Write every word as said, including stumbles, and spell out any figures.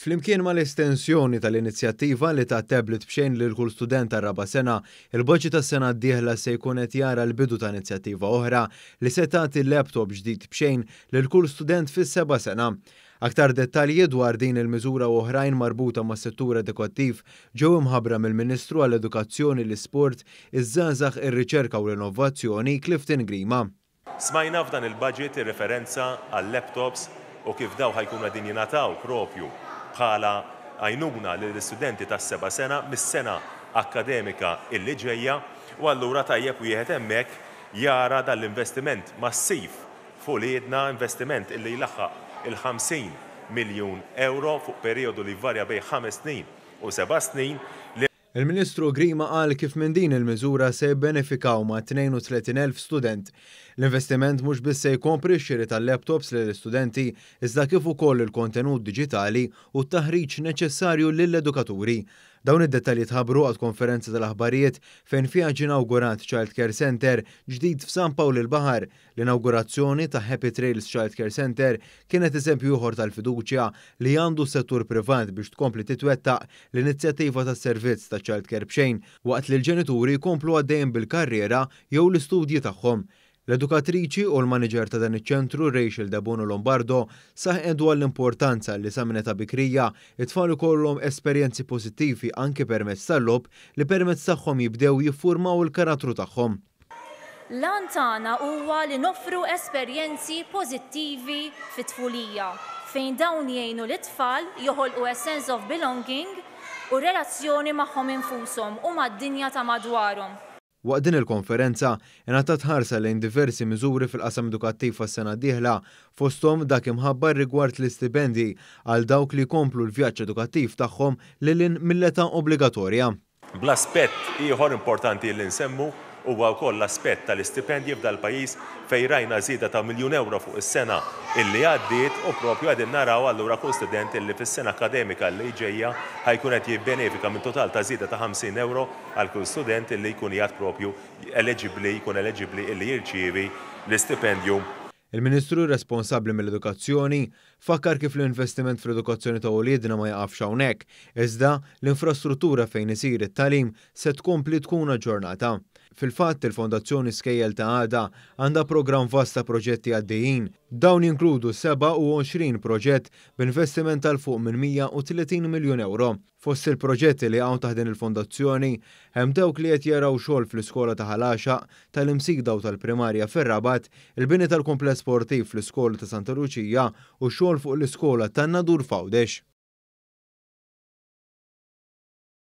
Flimkien mal-estensjoni tal-inizjattiva li ta' tablet b'xejn lil kull student tar-raba' sena, il-budget tas-sena d-dieħla se jkun qed jara l-bidu ta' inizjattiva oħra li se tagħti laptop ġdid b'xejn lil kull student fis-seba' sena. Aktar dettalji dwar din il-miżura u oħrajn marbuta mas-settur edukattiv ġew imħabbra mill-Ministru għall-Edukazzjoni, l-Isport, iż-Żgħażagħ, ir-Riċerka u l-Innovazzjoni, Clifton Grima. Smajna f'dan il-budget ir-referenza għal-laptops u kif dawn ħa jkunu qegħdin jingħataw propju bħala għajnuna lill-istudenti tas-seba' sena mis-sena akademika illi ġejja, u allura tajjeb wieħed hemmhekk jara dal-investiment massiv fuq uliedna, investiment illi jlaħħaq il-ħamsin miljun euro fuq perjodu li jvarja bejn ħames snin u seba' snin. Il-Ministru Grima qal kif minn din il-miżura se jibbenefikaw ma' tnejn u tletin elf student. L-investiment mhux biss se jkompri x-xiri tal-laptops lill-istudenti, iżda kif ukoll il-kontenut diġitali u t-taħriġ neċessarju lill-edukaturi. Dawn id-dettalji tħabbru għal konferenza tal-aħbarijiet fejn fiha ġie inawgurat Child Care Center ġdid f'San Pawl il-Baħar. L-inawgurazzjoni ta' Happy Trails Child Care Center kienet eżempju ieħor tal-fiduċja li għandu settur privat biex tkompli titwettaq l-inizjattiva tas-servizz ta' Child Care b'xejn waqt li l-ġenituri jkomplu għaddejjem bil-karriera jew l-istudji tagħhom. L-edukatriċi u l-manager ta' dan iċ-ċentru, Rachel Debono Lombardo, saħqet dwar l-importanza li sa minn età bikrija it-tfal ikollhom esperjenzi pożittivi, anke permezz tal-logħob li permezz tagħhom jibdew jiffurmaw il-karattru tagħhom. L-għan tagħna huwa li noffru esperjenzi pożittivi fit-tfulija fejn dawn jgħinu l-tfal joħolqu a sense of belonging u relazzjoni magħhom infushom u mad-dinja ta' madwarhom. Waqt din il-konferenza ingħatat ħarsa lejn diversi miżuri fil-qasam edukattiv għas-sena d-dieħla, fosthom dak imħabbar rigward l-istipendi għal dawk li jkomplu l-vjaġġ edukattiv tagħhom lil hinn mill-età obbligatorja. Bl-aspett ieħor importanti li nsemmu huwa wkoll l-aspett tal-istipendji f'dal-pajjiż, fejn rajna żieda ta' miljun euro fuq is-sena illi għaddiet, u propju qegħdin naraw allura kull student illi fis-sena akademika li ġejja ħa jkun qed jibbenefika minn total ta' żieda ta' ħamsin euro għal kull student illi jkun jgħad propju eligibbli, jkun eligibbli illi jirċievi l-istipendju. Il-Ministru responsabbli mill-edukazzjoni fakkar kif l-investiment fl-edukazzjoni ta' uliedna ma jaqafx hawnhekk, iżda l-infrastruttura fejn isir it-tagħlim se tkompli tkun aġġornata. Fil-fatt, il-Fondazzjoni Skejjel ta' Għada għandha programm vast ta' proġetti għaddejjin. Dawn jinkludu sebgħa u għoxrin proġett b'investiment 'l fuq minn mija u tletin miljun euro. Fost il-proġetti li hawn taħt din il-fondazzjoni hemm dawk li qed jaraw xogħol fl-iskola ta' Ħal Għaxaq, tal-Imsida u tal-Primarja fir-Rabat, il-bini tal-kumpless sportiv fl-iskola ta' Santa Luċija u xogħol fuq l-iskola tan-Nadur f'Għawdex.